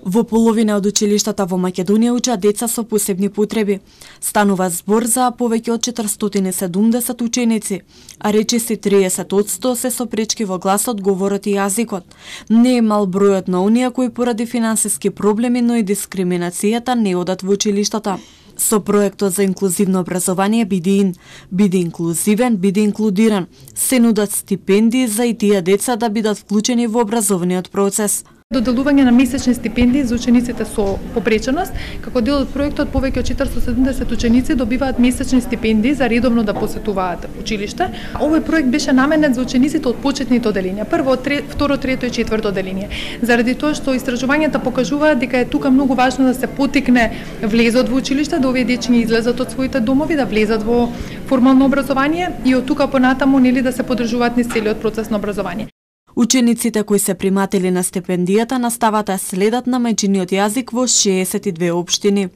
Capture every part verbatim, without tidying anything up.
Во половина од училиштата во Македонија учат деца со посебни потреби. Станува збор за повеќе од четиристотини и седумдесет ученици, а речиси триесет одсто се со пречки во гласот, говорот и јазикот. Не е мал бројот на оние кои поради финансиски проблеми, но и дискриминацијата не одат во училиштата. Со проектот за инклузивно образование Биди ин, биди инклузивен, биди инклудиран, се нудат стипендии за и тие деца да бидат вклучени во образовниот процес. Доделување на месечни стипендии за учениците со попреченост. Како дел од проектот, повеќе од четиристотини и седумдесет ученици добиваат месечни стипендии за редовно да посетуваат училиште. Овој проект беше наменет за учениците од почетните оделенија, прво, второ, трето и четврто оделение. Заради тоа што истражувањата покажуваат дека е тука многу важно да се потикне влезот во училиште, да овие дечиња излезат од своите домови, да влезат во формално образование и од тука понатаму нели да се поддржуваат низ целиот процес на образование. Учениците кои се приматели на стипендијата настават да следат на мајчиниот јазик во шеесет и две општини.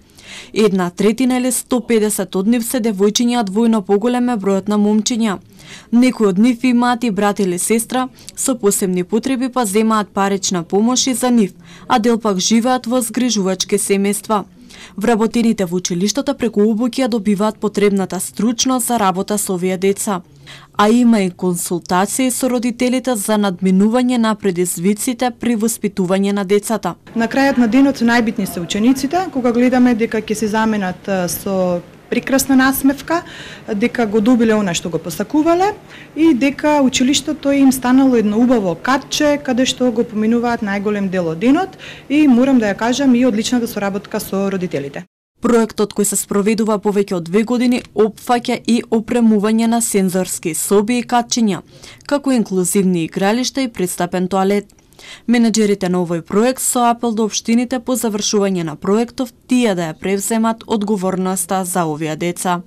Една третина или сто и педесет од нив се девојчиња, а двојно поголем е бројот на момчиња. Некои од нив имаат и брат или сестра со посебни потреби, па земаат парична помош и за нив, а дел пак живеат во згрижувачки семејства. Вработените во училиштата преку обуќа добиваат потребната стручност за работа со овие деца. А има и консултации со родителите за надминување на предизвиците при воспитување на децата. На крајот на денот најбитни се учениците, кога гледаме дека ќе се заменат со прекрасна насмевка, дека го добиле она што го посакувале и дека училиштето им станало едно убаво катче каде што го поминуваат најголем дел од денот и морам да ја кажам и одличната соработка со родителите. Проектот кој се спроведува повеќе од две години опфаќа и опремување на сензорски соби и катчиња, како инклузивни игралишта и пристапен тоалет. Менеджерите на овој проект со апел до општините по завршување на проектов тие да ја превземат одговорноста за овие деца.